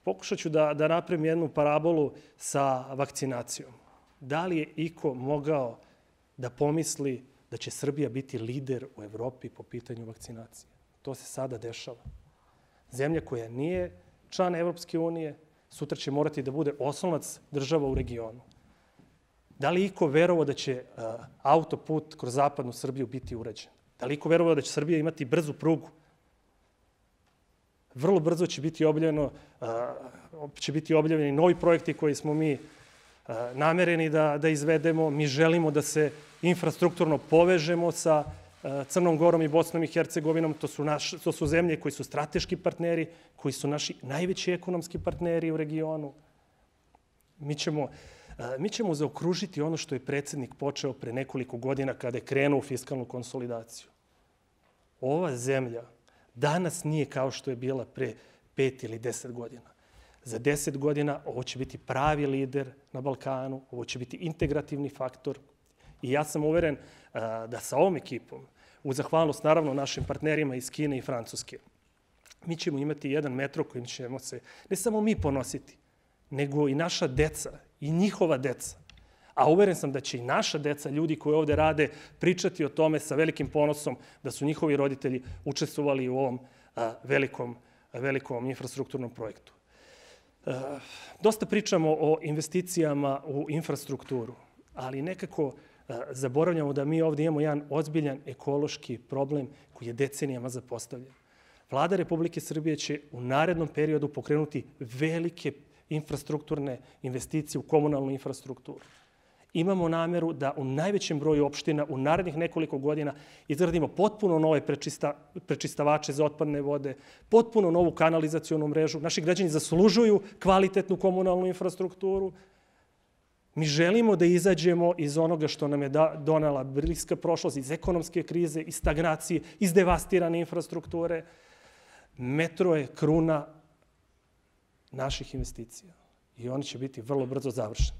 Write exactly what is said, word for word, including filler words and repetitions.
Pokušat ću da, da napravim jednu parabolu sa vakcinacijom. Da li je iko mogao da pomisli da će Srbija biti lider u Evropi po pitanju vakcinacije? To se sada dešava. Zemlja koja nije član Evropske unije, sutra će morati da bude oslonac država u regionu. Da li iko verovao da će uh, autoput kroz zapadnu Srbiju biti urađen? Da li iko verovao da će Srbija imati brzu prugu? Vrlo brzo će biti objavljeno, uh, će biti objavljeni novi projekti koji smo mi uh, namereni da, da izvedemo. Mi želimo da se infrastrukturno povežemo sa uh, Crnom Gorom i Bosnom i Hercegovinom. To su, naš, to su zemlje koji su strateški partneri, koji su naši najveći ekonomski partneri u regionu. Mi ćemo, uh, mi ćemo zaokružiti ono što je predsjednik počeo pre nekoliko godina kada je krenuo u fiskalnu konsolidaciju. Ova zemlja danas nije kao što je bila pre pet ili deset godina. Za deset godina ovo će biti pravi lider na Balkanu, ovo će biti integrativni faktor i ja sam uveren uh, da sa ovom ekipom, uz zahvalnost naravno našim partnerima iz Kine i Francuske, mi ćemo imati jedan metro kojim ćemo se ne samo mi ponositi, nego i naša deca i njihova deca. A uveren sam da će i naša deca, ljudi koji ovde rade, pričati o tome sa velikim ponosom da su njihovi roditelji učestvovali u ovom a, velikom, velikom infrastrukturnom projektu. A, dosta pričamo o investicijama u infrastrukturu, ali nekako a, zaboravljamo da mi ovde imamo jedan ozbiljan ekološki problem koji je decenijama zapostavljen. Vlada Republike Srbije će u narednom periodu pokrenuti velike infrastrukturne investicije u komunalnu infrastrukturu. Imamo nameru da u najvećem broju opština u narednih nekoliko godina izgradimo potpuno nove prečista, prečistavače za otpadne vode, potpuno novu kanalizacionu mrežu. Naši građani zaslužuju kvalitetnu komunalnu infrastrukturu. Mi želimo da izađemo iz onoga što nam je da, donela bliska prošlost, iz ekonomske krize, iz stagnacije, iz devastirane infrastrukture. Metro je kruna naših investicija i oni će biti vrlo brzo završeni.